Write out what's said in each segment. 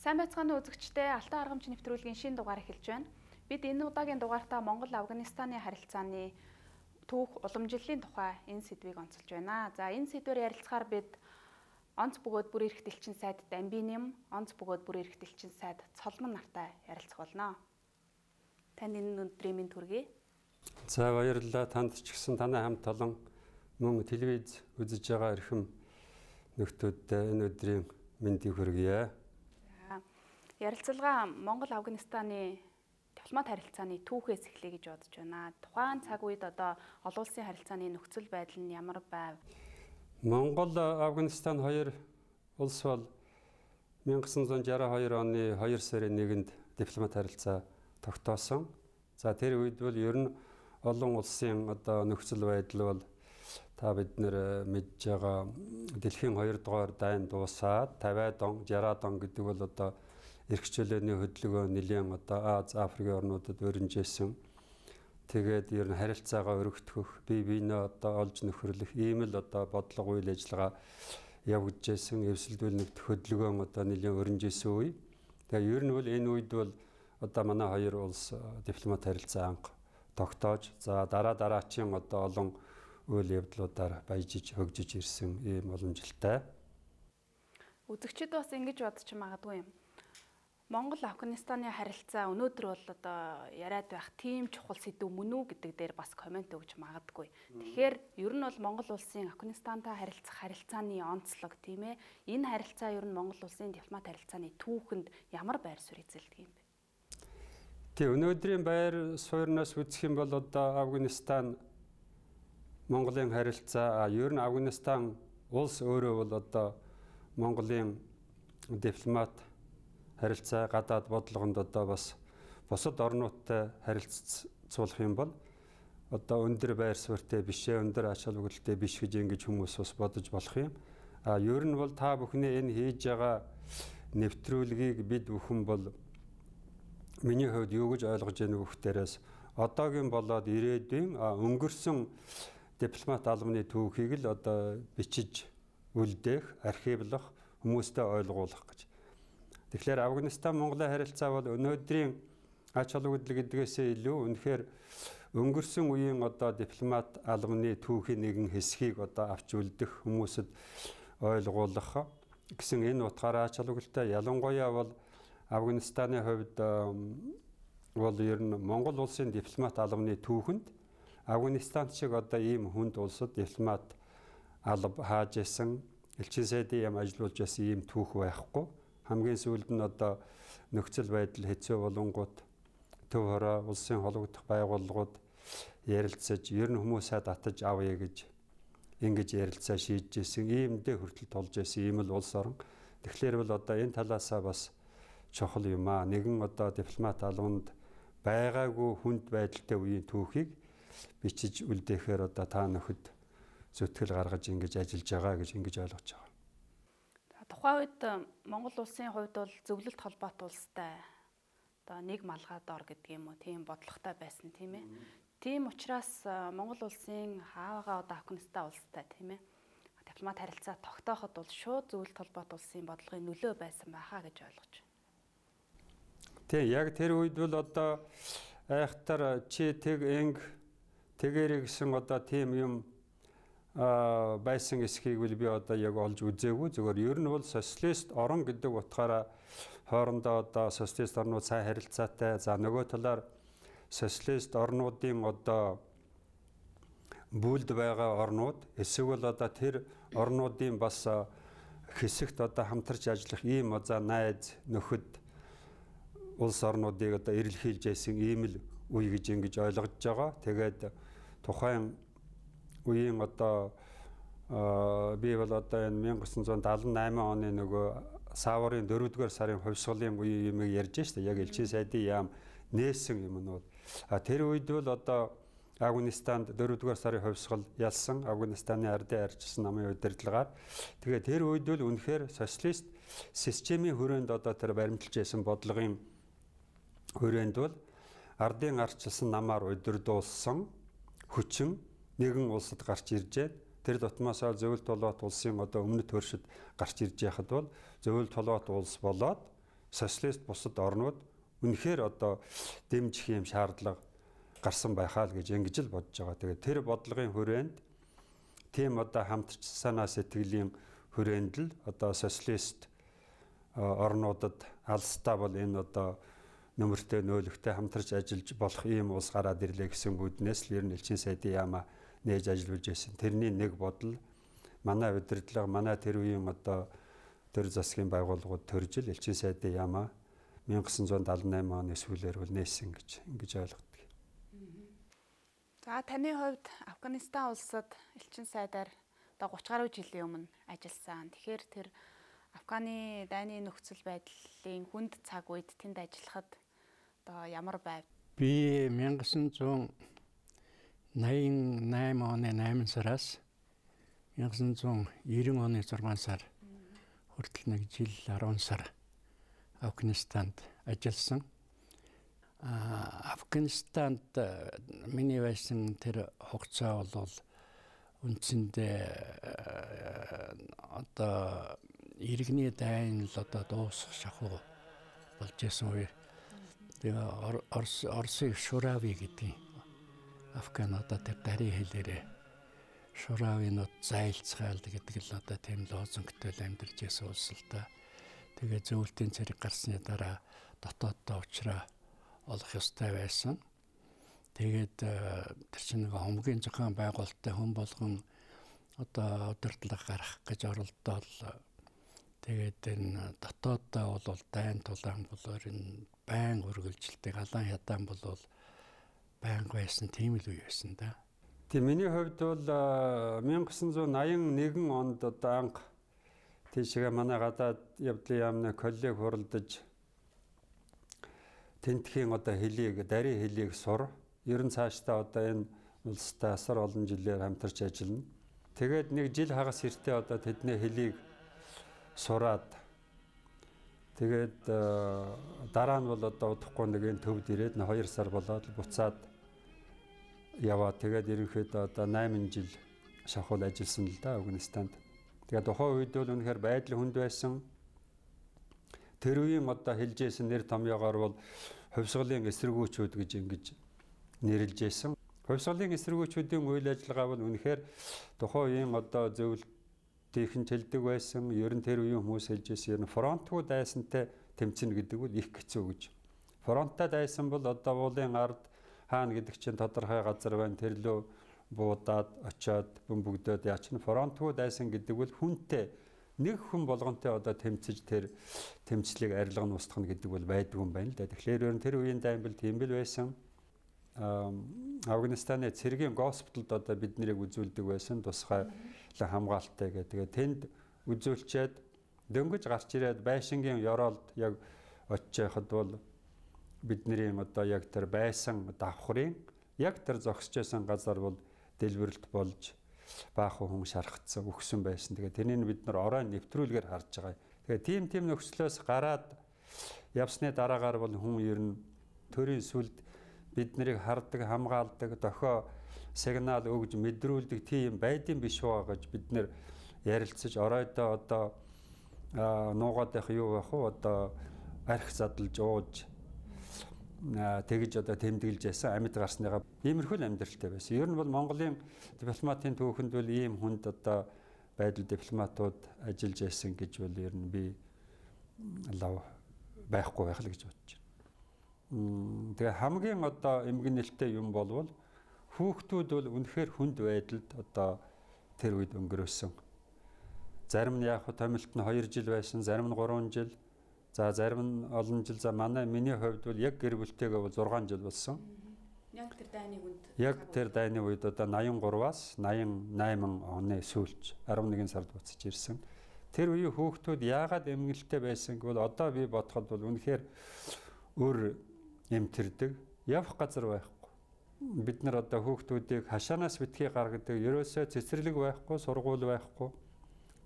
Сайн байцгааны үзэгчдээ Алтан аргамч нэвтрүүлгийн шинэ дугаар эхэлж байна. Бид энэ удаагийн дугаартаа Монгол-Афганистаны харилцааны түүх уламжлалын тухай энэ сэдвийг онцолж байна. За энэ сэдвээр ярилцахаар бид онц бөгөөд бүр ирэх дэлчин сайд Дамбиним, онц бөгөөд бүр ирэх дэлчин сайд Цолмон нартай ярилцах болно. Танд энэ өдрийн мэнд хүргэе. За баярлалаа. Танд ч гэсэн танай хамт олон мөн телевиз үзэж байгаа эрхэм нөхдүүдтэй энэ өдрийн мэндийг хүргье. Ярилцлага Монгол-Афганистаны дипломат харилцааны түүхээс эхлэе гэж бодож байна. Тухайн цаг үед одоо олон улсын харилцааны нөхцөл байдал нь ямар байв? Монгол-Афганистан хоёр улс бол 1962 оны 2 сарын 1-нд дипломат харилцаа тогтоосон. За тэр үед бол ер нь олон улсын одоо нөхцөл байдал бол та бид нэр мэдж байгаа дэлхийн 2 дугаар дайн дуусаад 50-аад он, 60-аад он гэдэг бол одоо эрхчлөөний хөдөлгөөн нэлийн одоо Аз, Африкийн орнуудад өрнжсэн. Тэгээд ер нь харилцаагаа өргөтгөх, бие биенээ одоо олж нөхөрлөх ийм л одоо бодлого үйл ажиллагаа явагдажсэн, эвсэлдүүл нэгдэх хөдөлгөөн одоо нэлийн өрнжсэн үе. Тэгээд ер нь бол энэ үед бол одоо манай хоёр улс дипломат харилцаа анх тогтоож, за дараачийн одоо олон үйл явдлуудаар баяжиж хөгжиж ирсэн ийм уламжлалтай. Үзэгчид бас ингэж бодож магадгүй юм. Монгол-Афганистаны харилцаа өнөөдөр бол одоо яриад байх тийм чухал сэдв мөн үү гэдэг дээр бас комент өгч магадгүй. Тэгэхээр ер нь бол Монгол улсын Афганистантай харилцах харилцааны онцлог тийм ээ. Энэ харилцаа ер нь Монгол улсын дипломат харилцааны түүхэнд ямар байр суурь эзэлдэг юм бэ? Тэг өнөөдрийн байр сууриас үзэх юм бол одоо Афганистан Монголын харилцаа ер нь Афганистан улс өөрөө бол одоо Монголын дипломат харилцаа гадаад бодлогонд одоо бас бусад орнуудтай харилцуулах юм бол одоо өндөр байр суурьтай биш ээ, өндөр ач холбогдолтой биш гэж ингэж хүмүүс бас бодож болох юм. Ер нь бол та бүхний энэ хийж байгаа нэвтрүүлгийг бид бүхэн бол миний хувьд юу гэж ойлгож байна вэ гэхтээрээс одоогийн болоод ирээдүйн өнгөрсөн дипломат албаны түүхийг л одоо бичиж үлдээх, архивлах, хүмүүстэй ойлгуулах гэж. Тэгэхээр Афганистан Монголын харилцаа бол өнөөдрийн ач холбогдол гэдгээсээ илүү үнэхээр өнгөрсөн үеийн одоо дипломат албаны түүхийн нэгэн хэсгийг одоо авч үлдэх, хүмүүсэд ойлгуулах гэсэн энэ утгаараа ач холбогдолтой. Ялангуяа бол Афганистаны хувьд бол ер нь Монгол улсын дипломат албаны түүхэнд Афганистан шиг одоо ийм хүнд улсад дипломат алба хааж исэн, элчин сайдын яам ажиллуулж байсан ийм түүх байхгүй. Хамгийн сүүлд нь одоо нөхцөл байдал хэцүү болонгууд төв хороо улсын холбогдох байгууллагууд ярилцаж ер нь хүмүүсээ татаж авъя гэж ингэж ярилцаа шийдэж исэн, иймдээ хүртэл толж исэн ийм л улс орн. Тэгэхээр бол одоо энэ талаасаа бас чухал юм аа. Нэгэн одоо дипломат албанд байгаагүй хүнд байдалтай үеийн түүхийг бичиж үлдээхээр одоо та нөхөд зүтгэл гаргаж ингэж ажиллаж байгаа гэж ингэж ойлгож байгаа. Тухайн үед Монгол улсын хувьд бол зөвлөлт холбоот улстай одоо нэг малгай дор гэдэг юм уу тийм бодлоготой байсан тийм ээ. Тийм учраас Монгол улсын хаагаа одоо Афганистан улстай тийм ээ. Дипломат харилцаа тогтооход бол шууд зөвлөлт холбоот улсын бодлогын нөлөө байсан байхаа гэж ойлгож байна. Тийм яг тэр үед бол одоо айхтар чи тэгэрэй гэсэн одоо тийм юм байсан эсхийг би одоо яг олж үзээгүй. Зөвхөн ер нь бол социалист орн гэдэг утгаараа хоорондоо одоо социалист орнууд сайн харилцаатай. За нөгөө талаар социалист орнуудын одоо бүлд байгаа орнууд эсвэл одоо тэр орнуудын бас хэсэгт одоо хамтарч ажиллах ийм одоо найз нөхөд улс орнуудыг одоо эрэлхийлж байсан ийм л үе гэж ингэж ойлгож байгаа. Тэгээд тухайн үеийн одоо би бол одоо энэ 1978 оны нөгөө саварын 4-р сарын хувьсгалын үеийн юм ярьж штэ. Яг элчин сайдын яам нээсэн юм нь бол тэр үед бол одоо Афганистанд 4-р сарын хувьсгал ялсан, Афганистаны ардын арчилсан намын удирдлагаар. Тэгээд тэр үед бол үнэхээр социалист системийн хүрээнд одоо тэр баримталж байсан бодлогын хүрээнд бол ардын арчилсан намаар удирдуулсан хүчин нэгэн улсад гарч иржээ. Тэр дотмоосоо зөвлөлт толгойт улсын одоо өмнөд хөршид гарч ирж яхад бол зөвлөлт толгойт улс болоод социалист бусад орнууд үнэхээр одоо дэмжих юм шаардлага гарсан байхаа л гэж ингэж л бодож байгаа. Тэгээд тэр бодлогын хүрээнд тийм одоо хамтарч санаа сэтгэлийн хүрээнд л одоо социалист орнуудад алстаа бол энэ одоо нөмөртэй нөөлөгтэй хамтарч ажиллаж болох ийм улс гараад ирлээ гэсэн үүднээс л ер нь элчин сайдын яамаа нээж ажиллаж байсан. Тэрний нэг бодол манай удирдлага, манай тэр үеийн одоо төр засгийн байгууллагууд төржил элчин сайдын яамаа 1978 оны сүүлээр бол нээсэн гэж ингэж ойлгодог. За таны хувьд Афганистан улсад элчин сайдаар одоо 30 гаруй жилийн өмнө ажилласан. Тэгэхээр тэр Афганы дайны нөхцөл байдлын хүнд цаг үед тэнд ажиллахад одоо ямар байв? Би 1988 оны 8 сараас 1990 оны 6 сар хүртэл нэг жил 10 сар Афганистанд ажилласан. Афганистанд миний байсан тэр хугацаа бол үндсэндээ одоо иргэний дайн л одоо дуусах шахуу болж исэн үе. Тэгээ Орсын Шурави гэдэг Афгануудад тэр дарийн хэлээрээ Шуравинууд зайлцгаал гэдэг л одоо тийм лозунгтой л амьдарч исэн улс л та. Тэгээ зөвлөлтийн цэрэг гарсны дараа дотооддоо уучраа олох ёстой байсан. Тэгээд тэр чинь нэг хомгийн зохион байгуулалттай хүн болгон одоо удирдлага гарах гэж оролдоод тэгээд энэ дотооддоо бол дайн тулаан болоор энэ байн үргэлжилдэг алан хядаан бол байн байсан тийм л үе байсан да. Тийм миний хувьд бол 1981 онд одоо анх тийшээ манай гадаад явдлын яамны коллег хуралдаж тентхийн одоо хэлийг, дарийн хэлийг сур. Ер нь цаашдаа одоо энэ улстай асар олон жилээр хамтарч ажиллана. Тэгээд нэг жил хагас эртээ одоо тэдний хэлийг сураад тэгээд дараа нь бол одоо удахгүй нэг энэ төвд ирээд 2 сар болоод буцаад яваа. Тэгээд ерөнхийдөө одоо 8 жил шахуул ажилласан л да Афганистанд. Тэгээд тухайн үед бол үнэхээр байдал хүнд байсан. Тэр үеийн одоо хэлжсэн нэр томьёогоор бол хувьсгалын эсэргүүчүүд гэж ингэж нэрлэжсэн. Хувьсгалын эсэргүүчүүдийн үйл ажиллагаа бол үнэхээр тухайн үеийн одоо зөвлөлтийн хэлдэг байсан. Ер нь тэр үеийн хүмүүс хэлжсэн ер нь фронтгүй дайсантай тэмцэнэ гэдэг бол их хэцүү гэж. Фронттай дайсан бол одоо уулын ард хаана гэдэг чинь тодорхой газар байна. Тэр лөө буудаад очиод бөмбөгдөөд яач нь фронтгүй дайсан гэдэг бол хүнтэй нэг хүн болгонтэй одоо тэмцэж тэр тэмцлийг арилга нь устгах гэдэг бол байдгүй юм байна л да. Тэгэхээр ер нь тэр үеийн дайн бол тийм бил байсан. Афганистаны цэргийн госпиталд одоо бид нарыг үзүүлдэг байсан тусгай хамгаалалттай гэдэг. Тэгээ тэнд үзүүлчихэд дөнгөж гарч ирээд байшингийн ёроолд яг очиж байхад бол бидний одоо яг тэр байсан давхрын яг тэр зогсож байсан газар бол дэлбэрэлт болж баахан хүн шархацсан өгсөн байсан. Тэгээ тэрийг бид нар орой нэвтрүүлгээр харж байгаа. Тэгээ тийм нөхцлөөс гараад явсны дараагаар бол хүн ер нь төрийн сүлд бид нарыг хардаг, хамгаалдаг, дохио сигнал өгж мэдрүүлдэг тийм байдсан биш уу гэж бид нэр ярилцаж оройдоо одоо нуугаад байх юу байх вэ? Одоо арх задлж ууж тэгж одоо тэмдэглэж ясан амьд гарсныгаа иймэрхүү амьдралтай байсан. Ер нь бол Монголын дипломатын түүхэнд бол ийм хүнд одоо байдал дипломатууд ажиллаж ясан гэж бол ер нь би лав байхгүй байх л гэж бодож байна. Тэгээ хамгийн одоо эмгэнэлтэй юм болвол хүүхдүүд бол үнэхээр хүнд байдалд одоо тэр үед өнгөрөөсөн. Зарим нь яг томилт нь 2 жил байсан, зарим нь 3 жил. За зарим нь олон жил. За миний хувьд бол яг гэр бүлтэйгээ бол 6 жил болсон. Яг тэр дайны үед. Яг тэр дайны үед одоо 83-аас 88 оны сүүлч 11 сард буцаж ирсэн. Тэр үеийн хүүхдүүд яагаад эмгэнэлтэй байсан гэвэл одоо би бодоход бол үнэхээр өөр эмтэрдэг, явах газар байхгүй. Бид нар одоо хүүхдүүдийг хашаанаас битгий гаргадаг, ерөөсөө цэцэрлэг байхгүй, сургууль байхгүй.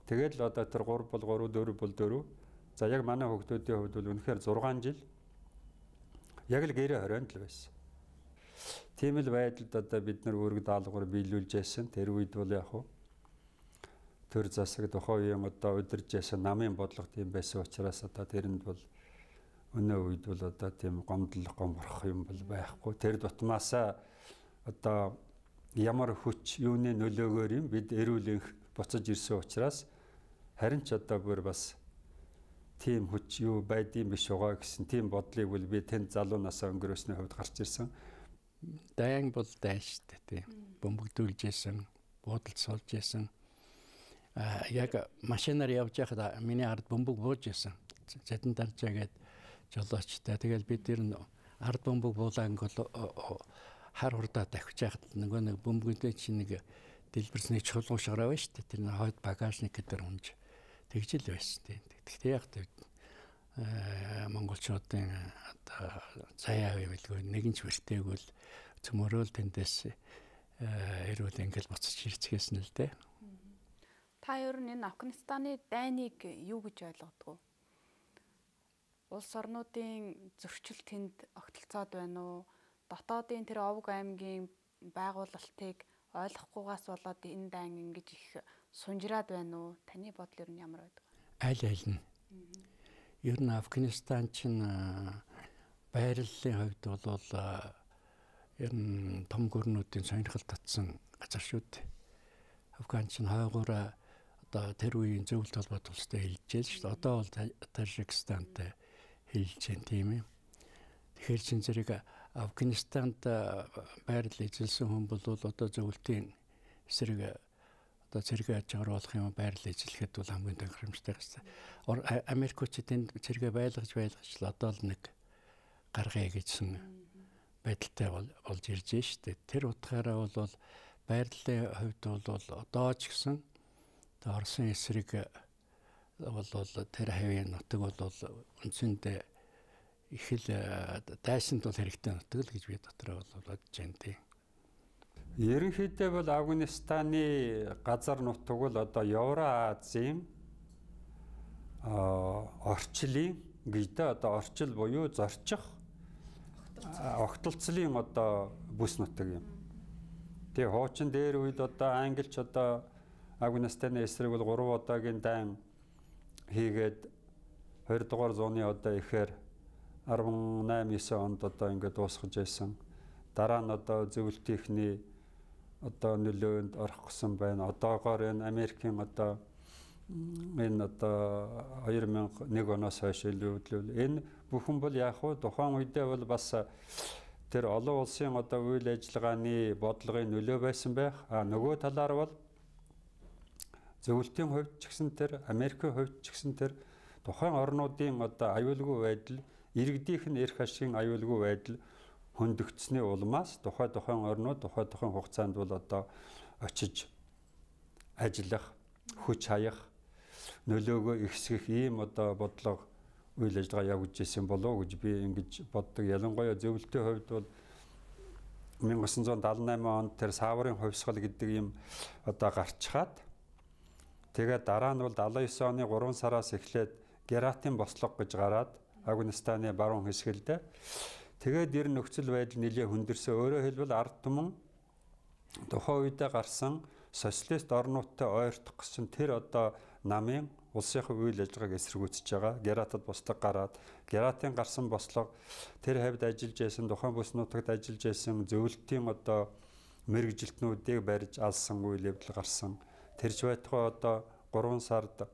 Тэгээд л одоо тэр 3 бол 3, 4 бол 4. За яг манай хүүхдүүдийн хувьд бол үнэхээр 6 жил яг л гэрээ хорионд л байсан. Тийм л байдалд одоо бид нар үүрэг даалгавар биелүүлж байсан. Тэр үед бол яг хуу төр засаг тухайн үеийн одоо удирж байсан намын бодлого тийм байсан учраас одоо тэрэнд бол өнөө үед бол одоо тийм гомдох юм бол байхгүй. Тэр дутмаасаа одоо ямар хүч юуны нөлөөгөөр юм бид эрүүл энх буцаж ирсэн учраас харин ч одоо бүр бас тийм хүч юу байдсан биш байгаа гэсэн тийм бодлыг бол би тэнд залуу насаа өнгөрөөсний хувьд гарч ирсэн. Дайн бол дайн шүү дээ тийм. Бөмбөгдүүлж исэн, буудалд суулж исэн. Яг машинаар явж байхад миний ард бөмбөг бууж исэн. Зэдэн даржаа гээд жолоочтой. Тэгэл бид нэр ард бөмбөг буулангол хар хурдаа давхиж яхад нөгөө нэг бөмбөгтэй чинь нэг дэлбэрсний чулуун шараа байна шүү дээ. Тэр хойд багажник гэдэг унж тэгжил байсан тийм. Гэхдээ яг монголчуудын одоо заяа гэвэл нэгэн ч бэртэйгүүл цөмөрөөл тэндээс эрүүл ингээл буцаж ирцгээсэн л дээ. Та ер нь энэ Афганистаны дайныг юу гэж ойлгодог вэ? Улс орнуудын зөрчил тэнд огтлцоод байна уу? Дотоодын тэр овг аймгийн байгуулалтыг ойлгохгүйгаас болоод энэ дайн ингэж их сунжраад байна уу? Таны бодол ер нь ямар байдаг вэ? Аль нь. Ер нь Афганистан чинь байрлалын хувьд бол ер нь том гүрнүүдийн сонирхол татсан газар шүү дээ. Афган чинь хойгоороо одоо тэр үеийн зөвлөлт холбоот улстай хэлжээ шүү дээ. Одоо бол Тажикстантай хэлж байна тийм ээ. Тэгэхээр чин зэрэг Афганистанд байрлал эзэлсэн хүн бол одоо зөвлөлтийн эсрэг одоо зэрэг аж оруулах юм байрлал эзлэхэд бол хамгийн тохиромжтой гэсэн. Америкчууд энд зэрэг байлгаж л одоо л нэг гаргая гэжсэн байдалтай болж ирж штэ. Тэр утгаараа бол байрлалын хувьд бол одоо ч гэсэн Оросын эсрэг бол тэр хавийн нутаг бол үндсэндээ их л дайсанд бол хэрэгтэй нутаг л гэж би дотроо бол бодож байна тийм. Ерөнхийдөө бол Афганистаны газар нутаг бол одоо Евразийн орчлын гэдэг одоо орчил буюу зорчих огтлцлын одоо бүс нутаг юм. Тэгээ хуучин дээр үед одоо англич одоо Афганистаны эсрэг бол 3 удаагийн дайн хийгээд 20 дугаар зууны одоо ихээр 18-9 онд одоо ингээд дуусгаж байсан. Дараа нь одоо зөвлөлтийнхний одоо нөлөөнд орох гэсэн байна. Одоогоор энэ Америкийн одоо энэ одоо 2001 оноос хойш илүүл энэ бүхэн бол яг хуу тухайн үедээ бол бас тэр олон улсын одоо үйл ажиллагааны бодлогын нөлөө байсан байх. Нөгөө талаар бол зөвлөлтийн хувьд ч гэсэн тэр Америкийн хувьд ч гэсэн тэр тухайн орнуудын одоо аюулгүй байдал, иргэдийнх нь эрх ашигын аюулгүй байдал хөндөгдсөний улмаас тухайн орнууд тухайн хугацаанд бол одоо очиж ажиллах, хүч хаях, нөлөөгөө ихсгэх ийм одоо бодлого үйл ажиллагаа явуулж ирсэн болов уу гэж би ингэж боддог. Ялангуяа зөвлөлтийн хувьд бол 1978 онд тэр Саврын хувьсгал гэдэг ийм одоо гарчхаад тэгээд дараа нь бол 79 оны 3 сараас эхлээд Гератын бослого гэж гараад Афганистаны баруун хэсгэлдээ тэгээд ер нь нөхцөл байдал нэлээд хүндэрсэн. Өөрөөр хэлбэл ард түмэн тухайн үедээ гарсан социалист орнуудтай ойртох гэсэн тэр одоо намын улсынхаа үйл ажиллагааг эсэргүүцэж байгаа. Гератад бослого гараад Гератын гарсан бослого тэр хавьд ажиллаж байсан тухайн бүс нутагт ажиллаж байсан зөвлөлтийн одоо мэргэжилтнүүдийг барьж алсан үйл явдал гарсан. Тэрч байтугай одоо 3 сард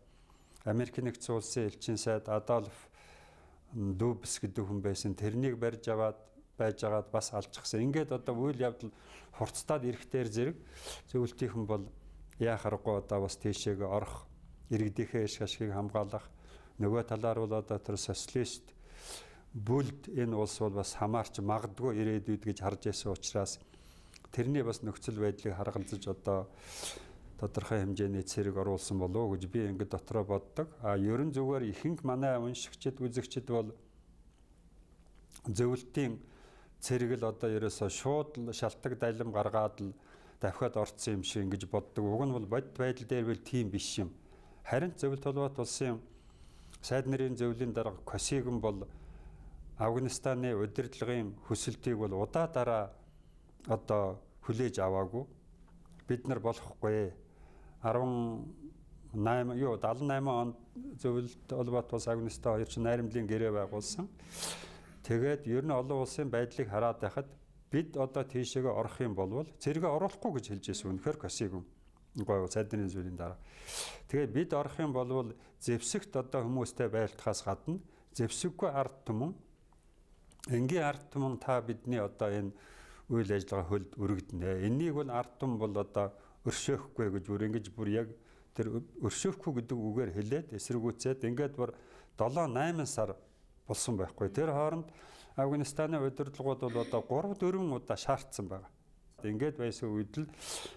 Америкийн нэгдсэн улсын элчин сайд Адольф Дубс гэдэг хүн байсан. Тэрнийг барьж аваад байжгаад бас алчихсан. Ингээд одоо үйл явдал хурцтаад ирэхтэр зэрэг зөвлөлтийнхэн бол яах аргагүй одоо бас тийшээ орох, иргэдийнхээ эрх ашигыг хамгаалах, нөгөө талаар бол одоо тэр социалист бүлд энэ улс бол бас хамаарч магадгүй ирээдүйд гэж харж байсан учраас тэрний бас нөхцөл байдлыг харгалзаж одоо тодорхой хэмжээний цэрэг оруулсан болов уу гэж би ингээд дотроо боддог. Ерөн зүгээр ихэнх манай уншигчид, үзэгчид бол зөвлөлтийн цэрэг л одоо ерөөсөө шууд шалтгаан дайлам гаргаад л давхиад орцсон юм шиг ингэж боддог. Уг нь бол бодит байдал дээр бол тийм биш юм. Харин зөвлөлт холбоот улсын сайд нарын зөвлөлийн дарга Косигин бол Афганистаны удирдлагын хүсэлтийг бол удаа дараа одоо хүлээж аваагүй. Бид нар болохгүй. 10 78 онд зөвлөлт холбоот улс Афганистан хоёр чинь найрамдлын гэрээ байгуулсан. Тэгээд ер нь олон улсын байдлыг хараад байхад бид одоо тийшээгээ орох юм болвол зэрэгээ оруулахгүй гэж хэлж байсан үнэхээр Косигон гой цайдны зүйлийн дараа. Тэгээд бид орох юм болвол зэвсэгт одоо хүмүүстэй байлтахаас гадна зэвсэггүй ард түмэн энгийн ард түмэн та бидний одоо энэ үйл ажиллагаа хөлд өргөднө. Энийг бол ард түмэн бол одоо өршөөхгүй гэж ингэж бүр яг тэр өршөөхгүй гэдэг үгээр хэлээд эсэргүүцээд ингээд бүр 7-8 сар болсон байхгүй. Тэр хооронд Афганистаны удирдлагууд бол одоо 3-4 удаа шаардсан байна. Ингээд байсан үед л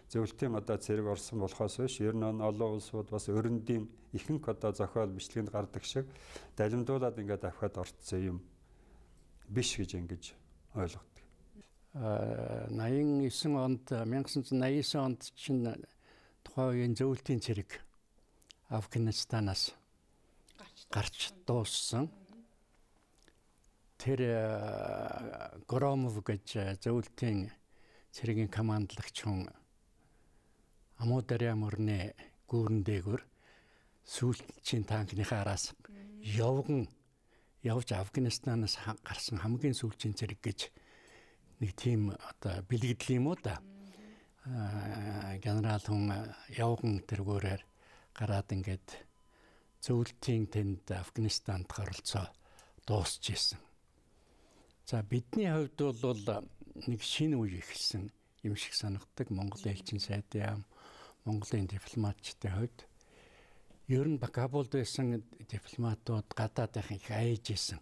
зөвлөлтийн одоо зэрэг орсон болохоос биш ер нь олон улсууд бас өрөндийн ихэнх одоо зохиол бичлэгэнд гардаг шиг далимдуулаад ингээд авахад орцсон юм биш гэж ингэж ойлгодог. 89 онд 1989 онд чинь тухайн үеийн зөвлөлтийн цэрэг Афганистанаас гарч дууссан. Тэр Громов гэж зөвлөлтийн цэргийн командлагч хүн Амударя мөрний гүүрэн дээгүүр сүүлчийн танкныхаа араас явж Афганистанаас гарсан хамгийн сүүлчийн цэрэг гэж нэг тийм одоо бэлгэдэл юм уу да. Генерал хүн явган тэргүүрээр гараад ингээд зөвлөлтийн тэнд Афганистанд оролцоо дуусч ирсэн. За бидний хувьд бол нэг шинэ үе эхэлсэн юм шиг санагддаг. Монголын элчин сайдын яам, Монголын дипломатчдын хувьд ер нь Кабулд байсан дипломатууд гадаадынх их айж исэн.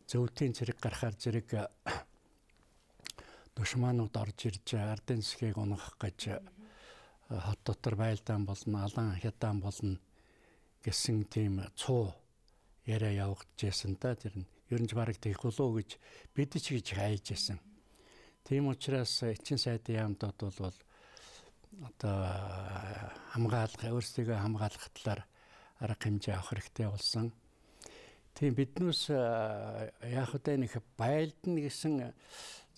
Зөвлөлтийн цэрэг гарахаар зэрэг душманууд орж ирж ардын засгийг унгах гэж хот дотор байлдаан болно, алан хятаан болно гэсэн тийм цуу яриа явагдажсэн та тэр нь ер нь бараг тийх болов гэж бид ч гэж хайж байсан. Тийм учраас элчин сайдын яамдууд бол одоо хамгаалах, өөрсдийгөө хамгаалах талаар арга хэмжээ авах хэрэгтэй болсон. Тийм биднээс яг хөдөө нэг байлдна гэсэн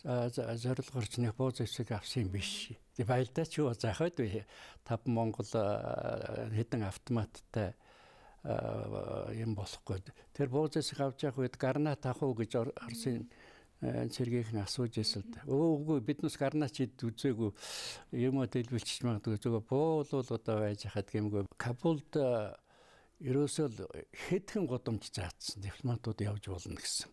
зорилгоорч нэг бууз эсэг авсан биш. Тэг байлдаач юу заахад вэ? 5 Монгол хэдэн автоматтай юм болохгүй. Тэр бууз эсэг авч явах үед гарнат авах уу гэж Оросын цэргийнхэн асууж ирсэн л да. Үгүй биднээс гарнаач үзээгүй юм дэлбэлчих магадгүй зүгээр буул одоо байж хаад гэмгүй. Кабулд ерөөсөө хэдхэн гудамж заацсан дипломатууд явж болно гэсэн.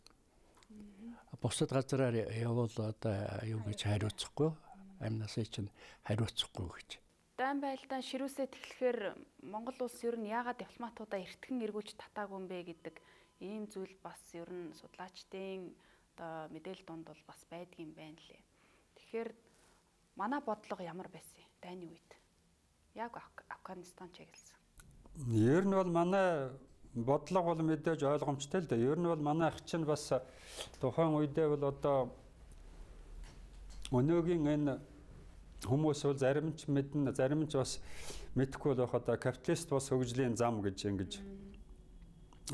Бусад газараар явбал одоо юу гэж хариуцахгүй, амнасаа чинь хариуцахгүй гэж. Дайн байлдаан ширүүсээ тэглэхээр Монгол улс ер нь яагаад дипломатуудаа эртхэн эргүүлж татаагүй юм бэ гэдэг ийм зүйл бас ер нь судлаачдын одоо мэдээлэл донд бол бас байдаг юм байна лээ. Тэгэхээр манай бодлого ямар байсан дайны үед? Яг Афганистан чиглэсэн. Ер нь бол манай бодлого бол мэдээж ойлгомжтой л да. Ер нь бол манай ах чинь бас тухайн үедээ бол одоо өнөөгийн энэ хүмүүс бол зарим ч мэднэ, зарим ч бас мэдэхгүй байх одоо капиталист бас хөгжлийн зам гэж ингэж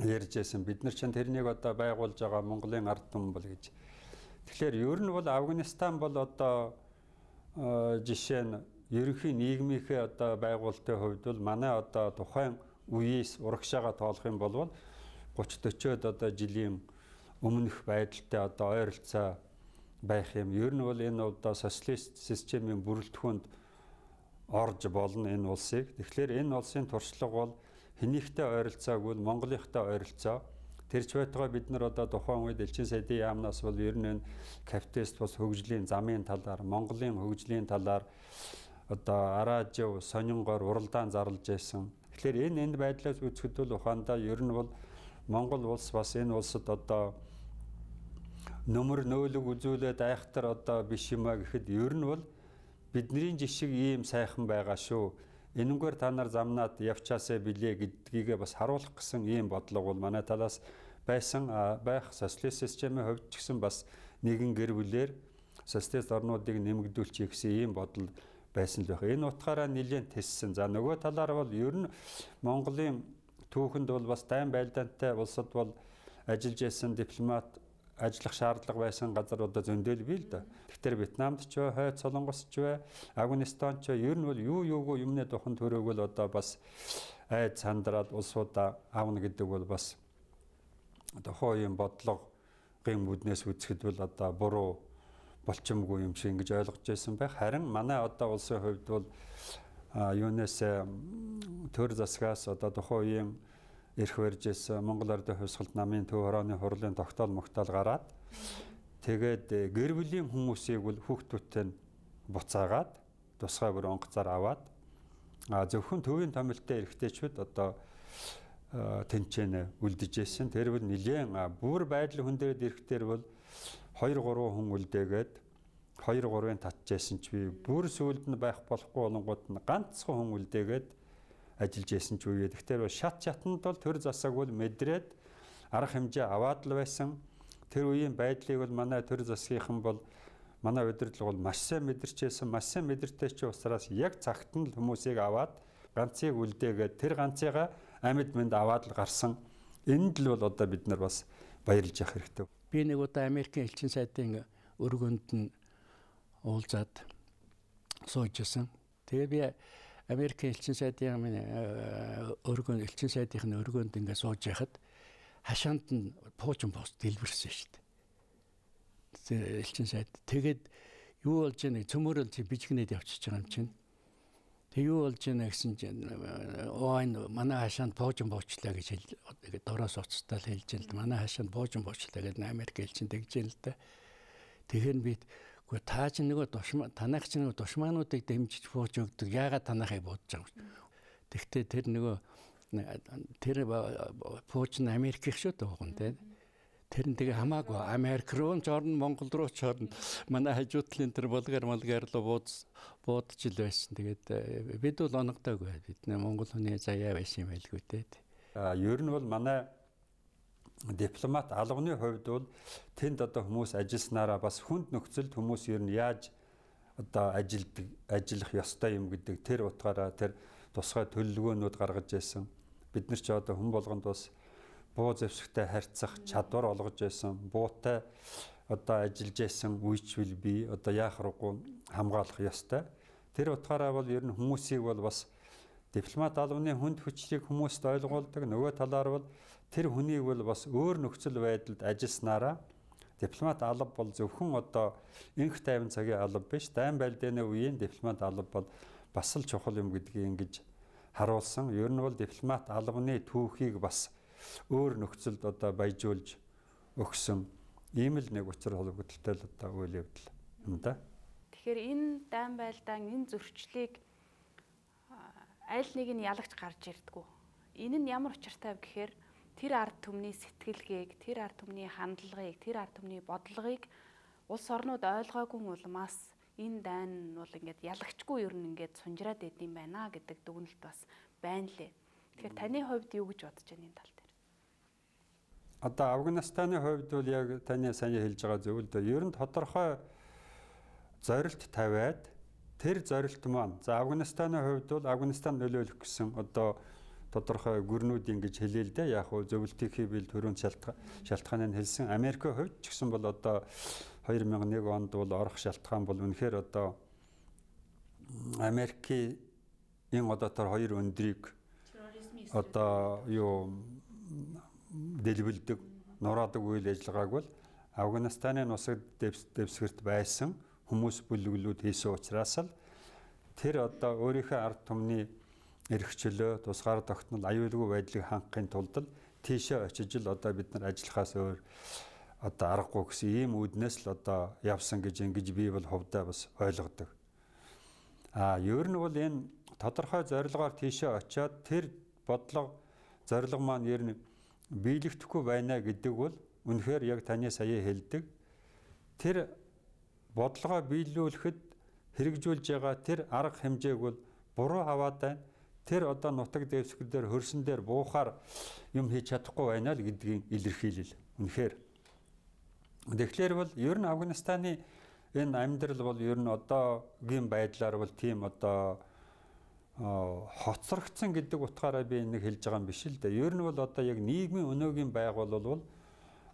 ярьж байсан. Бид нар чинь тэрнийг одоо байгуулж байгаа Монголын ард түмэн бол гэж. Тэгэхээр ер нь бол Афганистан бол одоо жишээ нь ерөнхий нийгмийнхээ одоо байгуулалтын хувьд бол манай одоо тухайн үеэс урагшаага тоолох юм бол 30-40-од одоо жилийн өмнөх байдалтай одоо ойролцоо байх юм. Ер нь бол энэ одоо социалист системийн бүрэлдэхүүнд орж болно энэ улсыг. Тэгэхээр энэ улсын туршлага бол хэнийхтэй ойролцоогүй Монголынхтай ойролцоо. Тэрч байтугай бид нар одоо тухайн үед элчин сайдын яамнаас бол ер нь энэ капиталист бас хөгжлийн замын талаар, Монголын хөгжлийн талаар одоо араажив, сонингоор уралдаан зарлж байсан. Тэгэхээр энэ байдлаас үзэхэд бол ухаандаа ер нь бол Монгол улс бас энэ улсад одоо нөмөр нөөлөг үзүүлээд айхтар одоо биш юм а гэхэд ер нь бол бидний жишг ийм сайхан байгаа шүү. Энэнгээр та нар замнаад явчаасаа билээ гэдгийг бас харуулах гэсэн ийм бодлого бол манай талаас байсан байх. Социалист системийн хувьд ч гэсэн бас нэгэн гэр бүлээр социалист орнуудыг нэмэгдүүлчих гэсэн ийм бодол байсан л байх. Энэ утгаараа нэлээд тессэн. За нөгөө талаар бол ер нь Монголын түүхэнд бол бас дайн байлдаантай улсад бол ажиллаж байсан дипломат ажиллах шаардлага байсан газар одоо зөндөл бий л да. Тэгэхээр Вьетнамд ч бай, Хойд Солонгос ч бай, Афганистан ч ер нь бол юугүй юмны духан төрөөгөл одоо бас айд сандраад улсуудаа аавна гэдэг бол бас одоо хуулийн бодлогын үүднээс үзэхэд бол одоо буруу болчимгүй юм шиг ингэж ойлгож байсан байх. Харин манай одоо улсын хувьд бол юунаас төр засгаас одоо тухайн үеийн эрх барьж ирсэн Монгол Ардын хувьсгалт намын төв хорооны хурлын тогтоол могтоол гараад тэгээд гэр бүлийн хүмүүсийг бол хүүхдүүдтэй нь буцаагаад тусгай бүр онгоцоор аваад зөвхөн төвийн томилтын эрхтэйчүүд одоо тэнцэнэ үлдэж ирсэн. Тэр бол нэлээд бүр байдал хүндээд ирэхтэр бол 2-3 хүн үлдээгээд 2-3-ын татчихсан ч би бүр сүүлд нь байх болохгүй болонгууд нь ганцхан хүн үлдээгээд ажиллаж байсан ч үе. Тэгэхээр шатнд бол төр засаг бол мэдрээд арга хэмжээ аваад л байсан. Тэр үеийн байдлыг бол манай төр засгийнхан бол манай удирдлага бол маш сайн мэдэрчээсэн, маш сайн мэдэртэй ч учраас яг цагт нь л хүмүүсийг аваад ганцыг үлдээгээд тэр ганцыгаа амьд мэнд аваад л гарсан. Энд л бол одоо бид нар бас баярлж явах хэрэгтэй. Би нэг удаа Америкийн элчин сайдын өргөнд нь уулзаад суужсэн. Тэгээ би Америкийн элчин сайдын элчин сайдын өргөнд ингээ сууж яхад хашаанд нь пуужин пост дэлбэрсэн шүү дээ. Элчин сайд. Тэгээд юу болж яаг цөмөрөл чи бичгнээд явчихж байгаа юм чинь. Тэг юу болж яана гэсэн чинь энэ манай хашаанд пуужин буучлаа гэж дороос уцтал хэлж ин л манай хашаанд пуужин буучлаа гэдэг Америк элчин тэгж ин л да. Тэгэхээр би үгүй та ч нөгөө танах ч нөгөө душмаануудыг дэмжиж бууж өгдөг. Яагаад танахыг буудаж байгаа юм. Тэгтээ тэр пууч нь Америкийн шүү дээ уган тийм. Тэр нь тэгээ хамаагүй Америк руу ч орно, Монгол руу ч орно. Манай хажуудлын тэр болгар руу буудаж ил байсан. Тэгээд бид бол оногдоогүй. Бид Монгол хүний заяа байсан юм байлгүй дээ. Ер нь бол манай дипломат албаны хувьд бол тэнд одоо хүмүүс ажилласнараа бас хүнд нөхцөлд хүмүүс ер нь яаж одоо ажиллах ёстой юм гэдэг тэр утгаараа тэр тусгай төлөвлөгөөнүүд гаргаж байсан. Бид нар ч одоо хүн болгонд бас буу зэвсэгтэй харьцах чадвар олгож байсан. Буутай одоо ажиллаж байсан үеичвэл би одоо яах аргагүй хамгаалах ёстой. Тэр утгаараа бол ер нь хүмүүсийг бол бас дипломат албаны хүнд хүчлийг хүмүүст ойлгуулдаг. Нөгөө талаар бол тэр хүнийг бол бас өөр нөхцөл байдалд ажилласнараа дипломат алба бол зөвхөн одоо инх тайван цагийн алба биш. Дайн байлдааны үеийн дипломат алба бол бас л чухал юм гэдгийг ингэж харуулсан. Ер нь бол дипломат албаны түүхийг бас өөр нөхцөлд одоо баяжуулж өгсөн ийм л нэг учир холбогдолтой л одоо үйл явдал юм да. Тэгэхээр энэ дайн байлдаан энэ зөрчлийг аль нэг нь ялагч гарч ирдэггүй. Энэ нь ямар учиртай вэ гэхээр тэр ард түмний сэтгэлгээг, тэр ард түмний хандлагыг, тэр ард түмний бодлогыг улс орнууд ойлгоогүй улмаас энэ дайн нь бол ингээд ялагчгүй ер нь ингээд сунжраад идэм байна гэдэг дүгнэлт бас байна лээ. Тэгэхээр таны хувьд юу гэж бодож байна энэ тал дээр? Одоо Афганистаны хувьд бол яг таны сайн хэлж байгаа зөв л дээ. Ер нь тодорхой зорилт тавиад тэр зорилт маань за Афганистаны хувьд бол Афганистан нөлөөлөх гэсэн одоо тодорхой гүрнүүд ингэж хэлээ л дээ. Яг хөө зөвлөлтийнхээ бил төрөнд шалтгааныг хэлсэн. Америкийн хувьд ч гэсэн бол одоо 2001 онд бол орох шалтгаан бол үнэхээр одоо Америкийн одоо тэр хоёр өндрийг одоо юу дэлбэлдэг нураадаг үйл ажиллагааг бол Афганистаны нусаг дэвсгэрт байсан хүмүүс бүлэглүүд хийсэн учраас л тэр одоо өөрийнхөө ард түмний эрхчлөө тусгаар тогтнол аюулгүй байдлыг хангахын тулд л тийшээ очиж л одоо бид нар ажиллахаас өөр одоо аргагүй гэсэн ийм үүднээс л одоо явсан гэж ингэж би бол хувьдаа бас ойлгодог. Ер нь бол энэ тодорхой зорилгоор тийшээ очиод тэр бодлого зорилго маань ер нь биелэгдэхгүй байна гэдэг бол үнэхээр яг таны сая хэлдэг. Тэр бодлогоо биелүүлэхэд хэрэгжүүлж байгаа тэр арга хэмжээг бол буруу аваад байна. Тэр одоо нутаг дэвсгэр дээр хөрсөн дээр буухаар юм хийж чадахгүй байна л гэдгийг илэрхийлэл. Үнэхээр. Тэгэхээр бол ер нь Афганистаны энэ амьдрал бол ер нь одоогийн байдлаар бол тийм одоо хоцрогдсон гэдэг утгаараа би нэг хэлж байгаа юм биш л дээ. Ер нь бол одоо яг нийгмийн өнөөгийн байгуул бол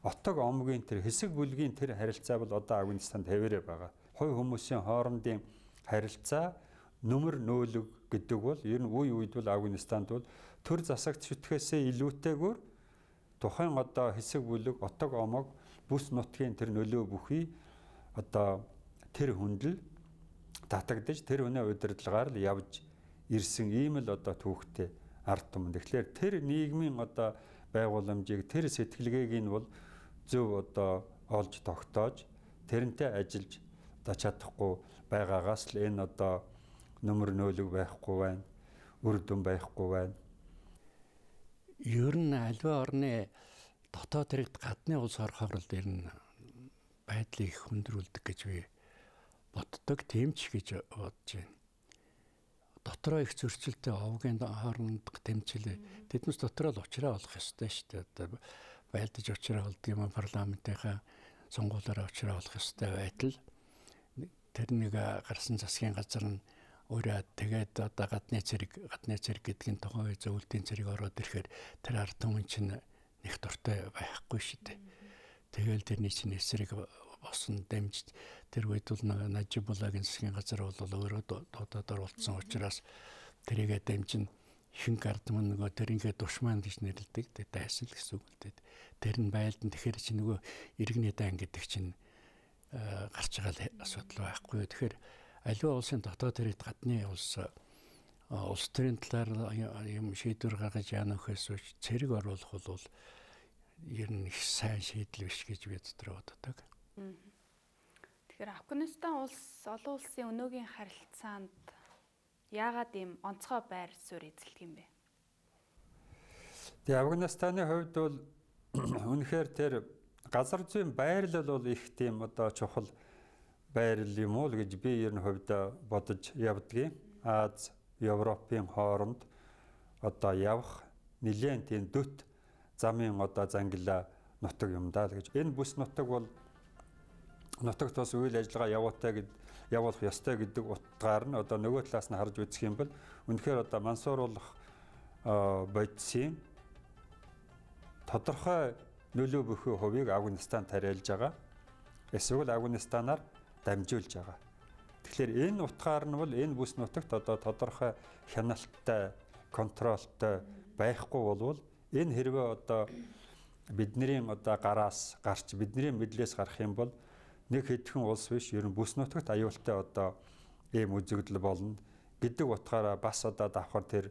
отог омгийн тэр хэсэг бүлгийн тэр харилцаа бол одоо Афганистанд хэвээрээ байгаа. Хувь хүмүүсийн хоорондын харилцаа нөмөр нөөлөг гэдэг бол ер нь үе үед бол Афганистанд бол төр засагт шүтгэхээсээ илүүтэйгээр тухайн одоо хэсэг бүлэг отог омог бүс нутгийн тэр нөлөө бүхий одоо тэр хүндэл татагдж тэр үнэ удирдлагаар л явж ирсэн ийм л одоо түүхтэй ард түмэн. Тэгэхээр тэр нийгмийн одоо байгууламжийг тэр сэтгэлгээг нь бол зөв одоо олж тогтоож тэрнтэй ажиллаж одоо чадахгүй байгаагаас л энэ одоо нөмөр нөөлөг байхгүй байна, үр дүн байхгүй байна. Ер нь аливаа орны дотоод хэрэгт гадны улс орохоор л ер нь байдлыг хүндрүүлдэг гэж би боддог, тийм ч гэж бодож байна. Дотроо их зөрчилтэй овгийн хоорондох тэмцэл тэднээс дотроо л уучраа олох ёстой шүү дээ. Одоо байлдаж уучраа олдог юм парламентынхаа сонгуулиараа уучраа олох ёстой байтал тэр нэг гарсан засгийн газар нь өөрөө тэгээд одоо гадны цэрэг гэдгийн тухайн үе зөвлөлтийн цэрэг ороод ирэхээр тэр ард түмэн чинь нэг дуртай байхгүй шүү дээ. Тэгэл тэрний чинь эсрэг босон дэмжиж тэр үед бол Нажибуллагийн засгийн газар бол өөрөө дуудаад оролцсон учраас тэрийгэ дэмжин хин гардман нөгөө тэрингээ душман гэж нэрлэдэг дайсан л гэсэн үг л дээ. Тэр нь байлдан тэгэхээр чи нөгөө иргэний дан гэдэг чинь гарч байгаа асуудал байхгүй. Тэгэхээр аливаа улсын дотоод хэрэгт гадны улс төрийн талаар юм шийдвэр гаргаж яана гэхээс үуч цэрэг оруулах бол ер нь их сайн шийдэл биш гэж би дотроо боддог. Тэгэхээр Афганистан улс олон улсын өнөөгийн харилцаанд яагаад ийм онцгой байр суурь эзэлдэг юм бэ? Тэгээ Афганистаны хувьд бол үнэхээр тэр газар зүйн байрлал бол их тийм одоо чухал байрал юм уу гэж би ер нь хувьдаа бодож явдгийг. Аз, Европын хооронд одоо явах нэлээд тийм дөт замын одоо зангилаа нутаг юм даа л гэж. Энэ бүс нутаг бол нутагт бас үйл ажиллагаа явуулах ёстой гэдэг утгаар нь одоо нөгөө талаас нь харж үзэх юм бол үнэхээр одоо мансууруулах бодисын тодорхой нөлөө бүхий хувийг Афганистан тариалж байгаа. Эсвэл Афганистанаар дамжуулж байгаа. Тэгэхээр энэ утгаар нь бол энэ бүс нутагт одоо тодорхой хяналттай, контролтой байхгүй болвол энэ хэрвээ одоо бидний одоо гараас гарч бидний мэдлээс гарах юм бол нэг хэдхэн улс биш ер нь бүс нутагт аюултай одоо ийм үзэгдэл болно гэдэг утгаараа бас одоо давхар тэр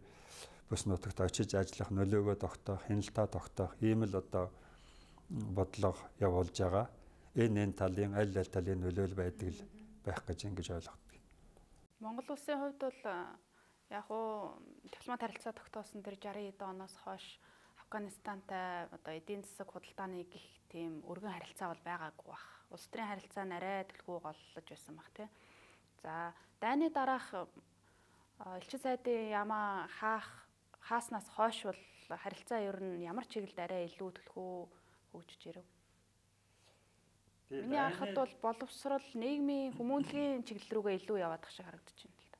бүс нутагт очиж ажиллах нөлөөгөө тогтоох, хяналтаа тогтоох ийм л одоо бодлого явуулж байгаа. Энэ талын аль талын нөлөөл байдаг л байх гэж ингэж ойлгодог. Монгол улсын хувьд бол яг уу дипломат харилцаа тогтоосон тэр 60-д оноос хойш Афганистантай одоо эдийн засаг худалдааны гих тийм өргөн харилцаа бол байгаагүй бах. Улс төрийн харилцаа нарай төлхөө голлож байсан бах тий. За дайны дараах элчин сайдын ямаа хааснаас хойш бол харилцаа ер нь ямар чиглэлд арай илүү төлхөө хөгжиж ирэв. Миний харахад бол боловсрол нийгмийн хүмүүнлэгийн чиглэл рүүгээ илүү яваадах шиг харагдаж байна л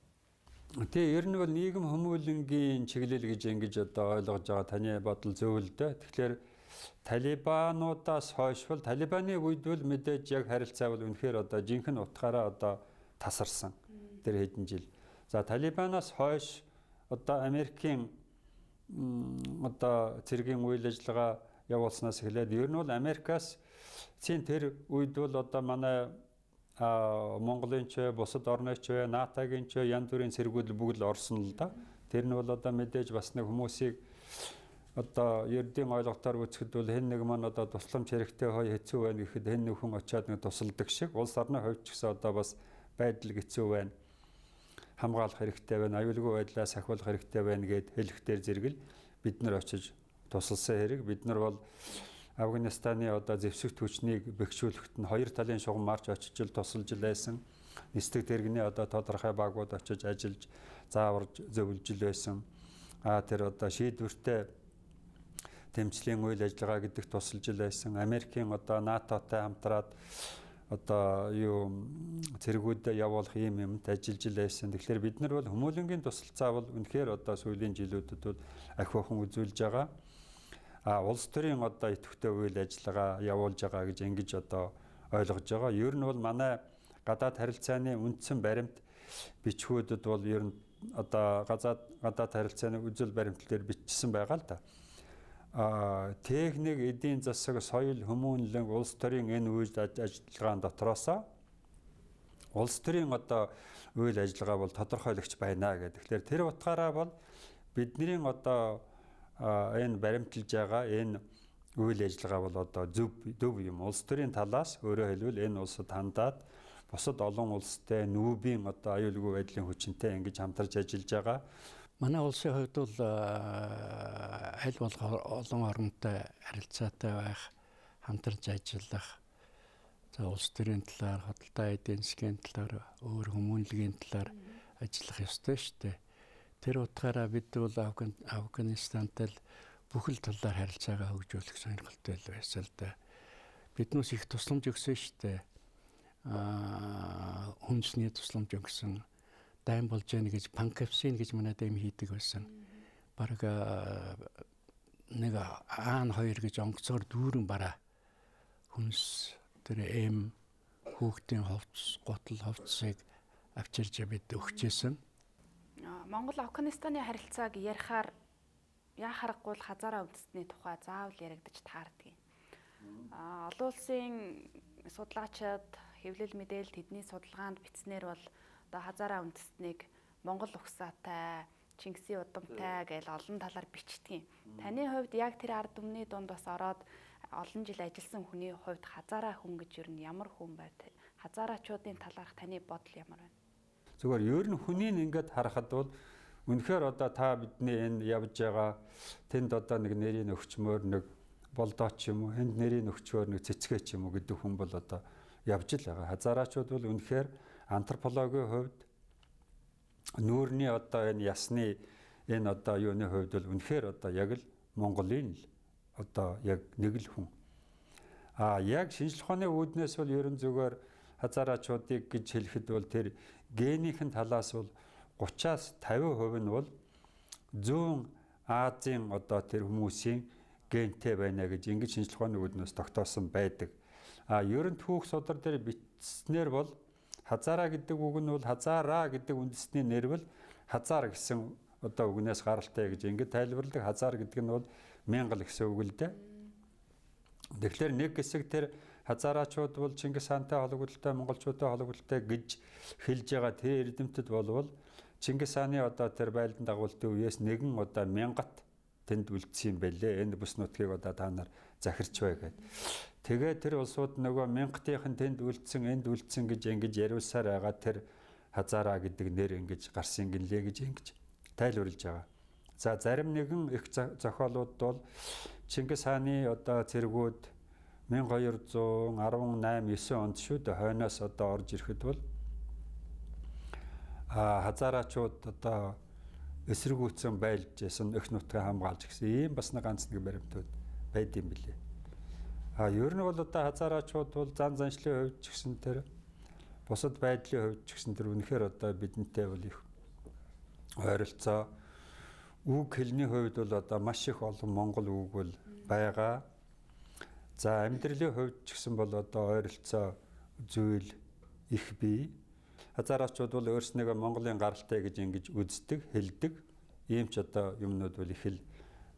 да. Тэгээ ер нь бол нийгэм хүмүүнлэгийн чиглэл гэж ингэж одоо ойлгож байгаа таны бодол зөв л дээ. Тэгэхээр талибануудаас хойш бол талибаны үед бол мэдээж яг харилцаа бол үнэхээр одоо жинхэнэ утгаараа одоо тасарсан тэр хэдэн жил. За талибанаас хойш одоо Америкийн одоо цэргийн үйл ажиллагаа явуулснаас эхлээд ер нь бол Америкаас тэр үед бол одоо манай Монголын ч бусад орны ч НАТОгийн ч янз бүрийн цэргүүд бүгд л орсон л да. Тэр нь бол одоо мэдээж бас нэг хүмүүсийг одоо ердийн ойлголтоор үзэхэд бол хэн нэг маань одоо тусламж хэрэгтэй хой хэцүү байна гэхэд хэн нэг хүн очиад нэг тусалдаг шиг улс орны хувьд ч гэсэн одоо бас байдал хэцүү байна. Хамгаалах хэрэгтэй байна, аюулгүй байдлаас сахиулах хэрэгтэй байна гэд хэлэхтэр зэрэгэл бид нар очиж тусалсан хэрэг. Бид нар бол Афганистаны одоо зэвсэгт хүчнийг бэхжүүлэхэд нь хоёр талын шугам марч очиж тусалж байсан. Нисдэг тэрэгний одоо тодорхой багууд очиж ажиллаж зааварж зөвлөж байсан. Тэр одоо шийдвэртэй тэмцлийн үйл ажиллагаа гэдэг тусалж байсан. Америкийн одоо НАТОтой хамтраад одоо цэргүүдэд явуулах юм юмд ажиллаж байсан. Тэгэхээр бид нар бол хүмүүнлэгийн тусалцаа бол үнэхээр одоо сүүлийн жилүүдэд бол ахиухан үзүүлж байгаа. улс төрийн одоо идэвхтэй үйл ажиллагаа явуулж байгаа гэж ингэж одоо ойлгож байгаа. Ер нь бол манай гадаад харилцааны үндсэн баримт бичгүүдэд бол ер нь одоо гадаад харилцааны үзэл баримтлал дээр бичсэн байгаа л да. Техник, эдийн засаг, соёл, хүмүүнлэн, улс төрийн энэ үйл ажиллагаан дотроос улс төрийн одоо үйл ажиллагаа бол тодорхойлогч байна гэдэг. Тэгэхээр тэр утгаараа бол бидний одоо энэ баримталж байгаа энэ үйл ажиллагаа бол одоо зөв юм. Улс төрийн талаас өөрөөр хэлбэл энэ улсад хандаад бусад олон улстай нүүбийн одоо аюулгүй байдлын хүчинтэй ингэж хамтарч ажиллаж байгаа. Манай улсын хувьд бол аль болох олон орнтой харилцаатай байх, хамтарч ажиллах, улс төрийн талаар, худалдаа эдийн засгийн талаар, өөр хүмүүнлэгийн талаар ажиллах ёстой шүү дээ. Тэр утгаараа бид бол Афганистантай бүхэл талаар харилцаагаа хөгжүүлэх сонирхолтой байсан л да. Биднээс их тусламж өгсөн шүү дээ. Хүнсний тусламж өгсөн. Дайм болж яана гэж панкапсин гэж манай дэм хийдэг байсан. Бараг нэг аан 2 гэж онгоцоор дүүрэн бараа хүнс тэр хүүхдийн ховц, гутал ховцыг авчирж бид өгчээсэн. Монгол Афганистаны харилцааг ярихаар яа харахгүй л хазаараа үндэстний тухай заавал яригдаж таардаг. Олон улсын судлаачид хэвлэл мэдээлэл тэдний судалгаанд бичснээр бол одоо хазаараа үндэстнийг Монгол угсаатай, Чингисийн удамтай гэж олон талаар бичдэг. Таны хувьд яг тэр ард түмний дунд бас ороод олон жил ажилласан хүний хувьд хазаараа хүн гэж юу нь ямар хүн байв? Хазараачуудын талаарх таны бодол ямар байна? Зүгээр ер нь хүнийг ингээд харахад бол үнэхээр одоо та бидний энэ явж байгаа тэнд одоо нэг нэрийн өгчмөр нэг болдооч юм уу, энд нэрийн өгчмөр нэг цэцгээч юм уу гэдэг хүн бол одоо явж л байгаа. Хазараачууд бол үнэхээр антропологийн хувьд нүүрний одоо энэ ясны энэ одоо юуны хувьд бол үнэхээр одоо яг л Монголын л одоо яг нэг л хүн. Яг шинжлэх ухааны үүднээс бол ерөн зүгээр хазараачуудыг гэж хэлэхэд бол тэр генийхэн талаас бол 30-аас 50% нь бол зүүн Азийн одоо тэр хүмүүсийн гентэй байна гэж ингэж шинжлэх ухааны үүднээс тогтоосон байдаг. Ерөн түүх судар дээр бичснээр бол хазараа гэдэг үг нь бол хазараа гэдэг үндэсний нэр бол хазар гэсэн одоо үгнээс гаралтай гэж ингэж тайлбарладаг. Хазар гэдэг нь бол 1000 гэсэн үг л дээ. Тэгэхээр нэг хэсэг тэр хазараачууд бол Чингис хаантай холбогдолтой, монголчуудтай холбогдолтой гэж хэлж байгаа тэр эрдэмтэд болвол Чингис хааны одоо тэр байлдан дагуултын үеэс нэгэн одоо 1000-ат тэнд үлдсэн юм байлээ. Энэ бүс нутгийг одоо та нар захирч бай гэдэг. Тэгээ тэр улсууд нөгөө 1000-ийн тэнд үлдсэн, энд үлдсэн гэж ингэж яриулсаар байгаа тэр хазараа гэдэг нэр ингэж гарсан гинлээ гэж ингэж тайлбарлаж байгаа. За зарим нэгэн их зохиолууд бол Чингис хааны одоо цэргүүд 1218-9 онд шүү дээ хойноос одоо орж ирэхэд бол хазараачууд одоо эсэргүүцэн байлж байсан эх нутгаа хамгаалж гэсэн ийм бас нэг ганц нэг баримтууд байд юм билээ. Ер нь бол одоо хазараачууд бол зан заншлын хувьд ч гэсэн тэр бусад байдлын хувьд ч гэсэн тэр үнэхээр одоо бидэнтэй бол их ойролцоо үг хэлний хувьд бол одоо маш их олон монгол үг бол байгаа. За амьдралын хувьд ч гэсэн бол одоо ойролцоо зүйл их бий. Хазараачууд бол өөрснийгөө Монголын гаралтай гэж ингэж үздэг, хэлдэг. Ийм ч одоо юмнууд бол их л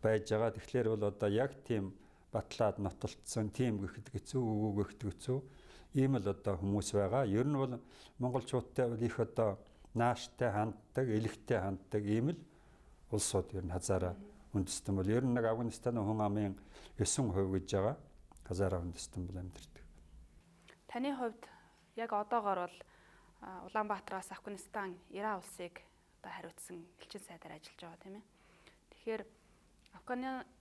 байж байгаа. Тэгэхээр бол одоо яг тийм батлаад нотолцсон, тийм гэхэд хэцүү, үгүй гэхэд хэцүү. Ийм л одоо хүмүүс байгаа. Ер нь бол монголчуудтай бол их одоо нааштай ханддаг, элэгтэй ханддаг ийм л улсууд ер нь хазараа үндэстэн бол ер нь нэг Афганистаны хүн амын 9% гэж байгаа. Хазараа үндэстэн бол амьдардаг. Таны хувьд яг одоогоор бол Улаанбаатараас Афганистан, Иран улсыг одоо хариуцсан элчин сайдаар ажиллаж байгаа тийм ээ. Тэгэхээр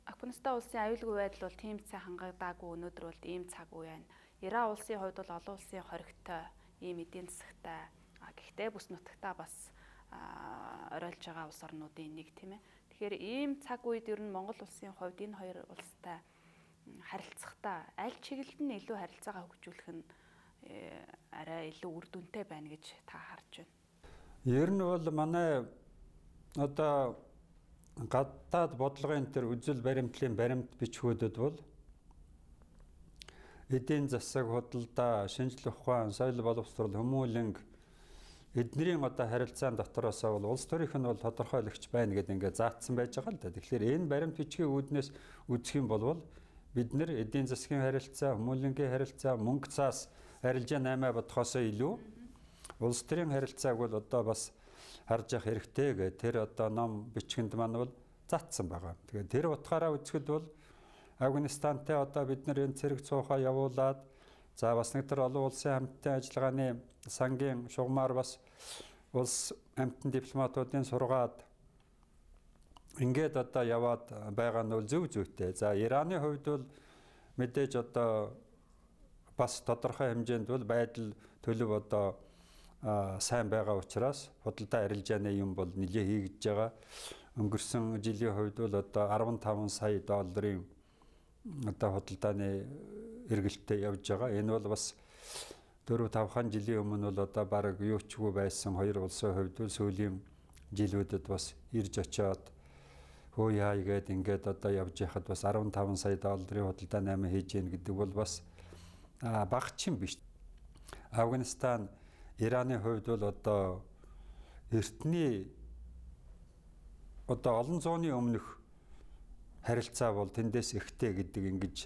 Афганистан улсын аюулгүй байдал бол тийм цай хангагдаагүй, өнөөдөр бол ийм цаг үе байна. Иран улсын хувьд бол олон улсын хоригтой, ийм эдийн засагтай, гэхдээ бүс нутагтаа бас оройлж байгаа улс орнуудын нэг тийм ээ. Тэгэхээр ийм цаг үед ер нь Монгол улсын хувьд энэ хоёр улстай харилцахдаа аль чиглэлд нь илүү харилцаагаа хөгжүүлэх нь арай илүү үр дүнтэй байна гэж та харж байна. Ер нь бол манай одоо гадаад бодлогын төр үзэл баримтлалын баримт бичгүүдэд бол эдийн засаг, худалдаа, шинжлэх ухаан, соёл боловсрол, хүмүүлэнг эднэрийн одоо харилцаан дотроос бол улс төрийнх нь бол тодорхойлогч байна гэдэг ингээд заагдсан байж байгаа л да. Тэгэхээр энэ баримт бичгийн үүднээс үзэх юм бол бид нэр эдийн засгийн харилцаа, хүмүүлэнгийн харилцаа, мөнгө цаас арилжаа 8 бодхосоо илүү улс төрийн харилцааг бол одоо бас харж явах хэрэгтэй гэх тэр одоо ном бичгэнд маань бол заагдсан байгаа. Тэгэхээр тэр утгаараа үзэхэд бол Афганистантай одоо бид нэр энэ цэрэг цуухаа явуулаад за бас нэг төр олон улсын хамтын ажиллагааны сангийн шугамар бас улс хамтын дипломатуудын сургаад ингээд одоо яваад байгаа нь бол зөв зүйтэй. За Ираны хувьд бол мэдээж одоо бас тодорхой хэмжээнд бол байдал төлөв одоо сайн байгаа учраас худалдаа арилжааны юм бол нэлээд хийгдэж байгаа. Өнгөрсөн жилийн хувьд бол одоо 15 сая долларын одоо худалдааны эргэлттэй явж байгаа. Энэ бол бас 4-5 жилийн өмнө бол одоо баг юучгүй байсан хоёр улсын хувьд бол сүүлийн жилүүдэд бас ирж очиод хөө яа игээд ингээд одоо явж яхад бас 15 сая долларын худалдаа 8 хийж гин гэдэг бол бас багчин биш. Афганистан Ираны хувьд бол одоо эртний одоо олон зууны өмнөх харилцаа бол тэндээс ихтэй гэдэг ингэж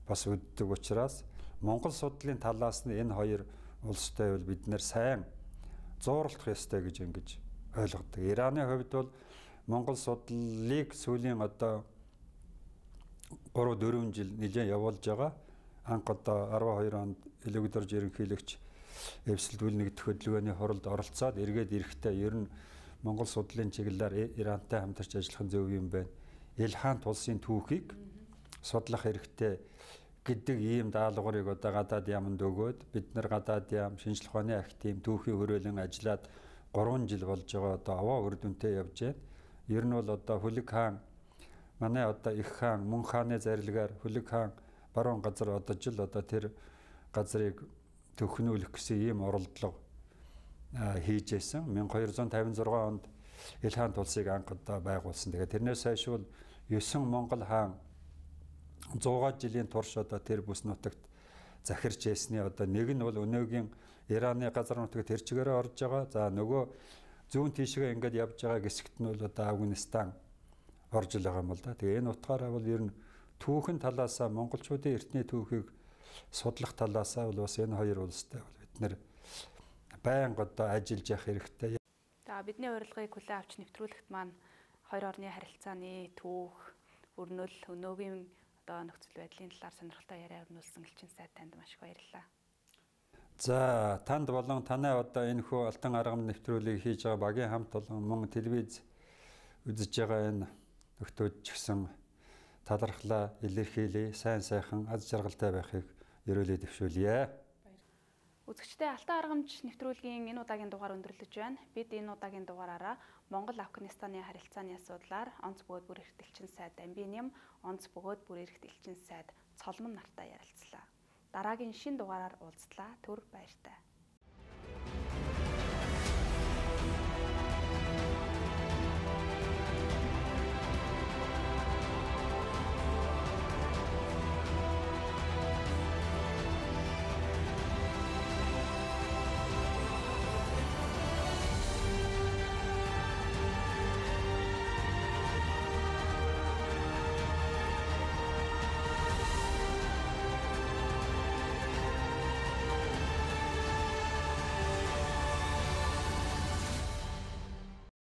бас үздэг учраас Монгол судлалын талаас нь энэ хоёр улстай бол бид нэр сайн зууралдах ёстой гэж ингэж ойлгодог. Ираны хувьд бол Монгол судлалыг сүүлийн одоо 3-4 жил нэлээд явуулж байгаа. Анх одоо 12 онд элегдорж ерөнхийлөгч эвсэлдүүл нэгдэх хөдөлгөөний хуралд оролцоод эргээд ирэхдээ ер нь Монгол судлалын чиглэлээр Ирантай хамтарч ажиллах зөв юм байна. Илхаант улсын түүхийг судлах хэрэгтэй гэдэг ийм даалгаврыг одоо гадаад яамд өгөөд бид нар гадаад яам шинжлэх ухааны актив түүхийн хөрөөлөн ажиллаад 3 жил болж байгаа одоо аваа үр дүнтэй явж байна. Ер нь бол одоо Хүлэг хаан манай одоо их хаан мөн хааны зарилгаар Хүлэг хаан баруун газар одоо жил одоо тэр газрыг төхнүүлэх гэсэн ийм оролдлого хийж байсан. 1256 онд Илхаант улсыг анх одоо байгуулсан. Тэгээд тэрнээс хойш бол 9 Монгол хаан 100 жилийн турш одоо тэр бүс нутагт захирч ясны одоо нэг нь бол өнөөгийн Ираны газар нутагт тэр чигээрээ орж байгаа. За нөгөө зүүн тийшээ ингээд явж байгаа хэсэгт нь бол одоо Афганистан орж л байгаа юм бол да. Тэгээ энэ утгаараа бол ер нь түүхэн талаасаа монголчуудын эртний түүхийг судлах талаасаа бол бас энэ хоёр улстай бол бид нэр байнга одоо ажиллаж явах хэрэгтэй. За бидний урилгыг хүлээн авч нэвтрүүлэгт маань хоёр орны харилцааны түүх, өрнөл, өнөөгийн одоо нөхцөл байдлын талаар сонирхолтой яриа өрнүүлсэн элчин сайд танд маш их баярлалаа. За танд болон танай одоо энэ хүү алтан аргамд нэвтрүүлгийг хийж байгаа багийн хамт болон мөн телевиз үзэж байгаа энэ нөхдөөд ч гэсэн талархлаа илэрхийлье, сайн сайхан аз жаргалтай байхыг ерөөлөө дэвшүүлье. Үзэгчдээ алтан аргамж нэвтрүүлгийн энэ удаагийн дугаар өндөрлөж байна. Бид энэ удаагийн дугаараараа Монгол-Афганистаны харилцааны асуудлаар онц бөгөөд бүр эрхт элчин сайд Дамбиням, онц бөгөөд бүр эрхт элчин сайд Цолмон нартай ярилцлаа. Дараагийн шинэ дугаараар уулзлаа. Түр баяртай.